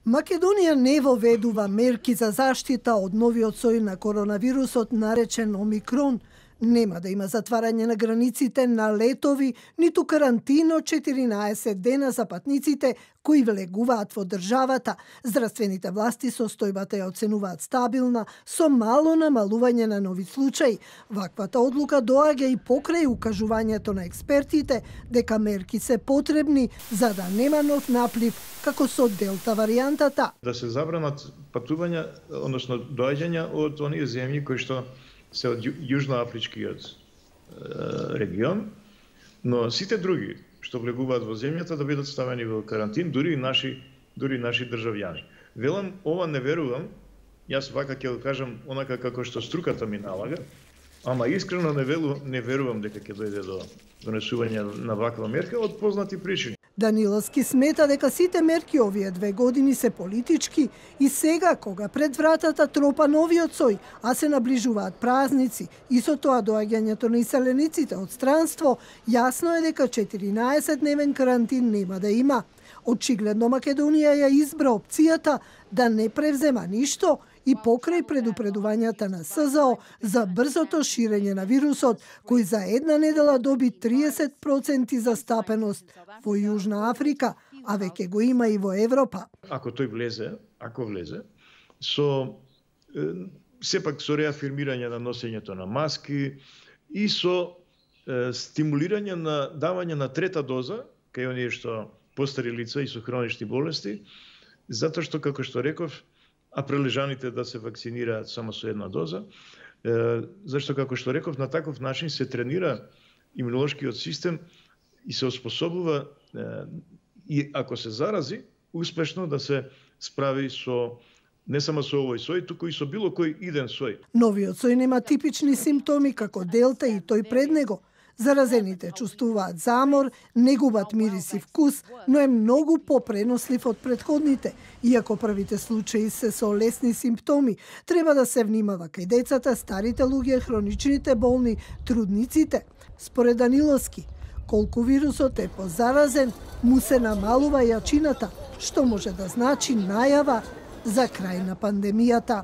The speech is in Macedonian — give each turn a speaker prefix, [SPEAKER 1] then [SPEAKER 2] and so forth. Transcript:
[SPEAKER 1] Македонија не воведува мерки за заштита од новиот сој на коронавирусот наречен Омикрон. Нема да има затварање на границите на летови, ниту карантин од 14 дена за патниците кои влегуваат во државата. Здравствените власти состојбата ја оценуваат стабилна, со мало намалување на нови случаи. Ваквата одлука доаѓа и покрај укажувањето на експертите дека мерки се потребни за да нема нов наплив како со Делта варијантата.
[SPEAKER 2] Да се забранат патувања, односно доаѓања од оние земји кои што се од јужноафричкиот регион, но сите други што влегуваат во земјата да бидат ставени во карантин, дури наши државјани. Велам, ова не верувам, јас вака ќе го кажам онака како што струката ми налага, ама искрено не верувам дека ќе дојде до донесување на ваква мерка од познати причини.
[SPEAKER 1] Даниловски смета дека сите мерки овие 2 години се политички и сега, кога пред вратата тропа новиот сој, а се наближуваат празници и со тоа доаѓањето на иселениците од странство, јасно е дека 14-дневен карантин нема да има. Очигледно Македонија ја избра опцијата да не превзема ништо и покрај предупредувањата на СЗО за брзото ширење на вирусот, кој за една недела доби 30% застапеност во Јужна Африка, а веќе го има и во Европа.
[SPEAKER 2] Ако тој влезе, сепак со реафирмирање на носењето на маски и со стимулирање на давање на трета доза кај оние што постари лица и со хронични болести, затоа што, како што реков, а прележаните да се вакцинираат само со една доза, зашто, како што реков, на таков начин се тренира имунолошкиот систем и се оспособува, и ако се зарази, успешно да се справи со не само со овој сој, туку и со било кој иден сој.
[SPEAKER 1] Новиот сој нема типични симптоми како Делта и тој пред него. Заразените чувствуваат замор, не губат мирис и вкус, но е многу попренослив од претходните. Иако првите случаи се со лесни симптоми, треба да се внимава кај децата, старите луѓе, хроничните болни, трудниците. Според Даниловски, колку вирусот е позаразен, му се намалува јачината, што може да значи најава за крај на пандемијата.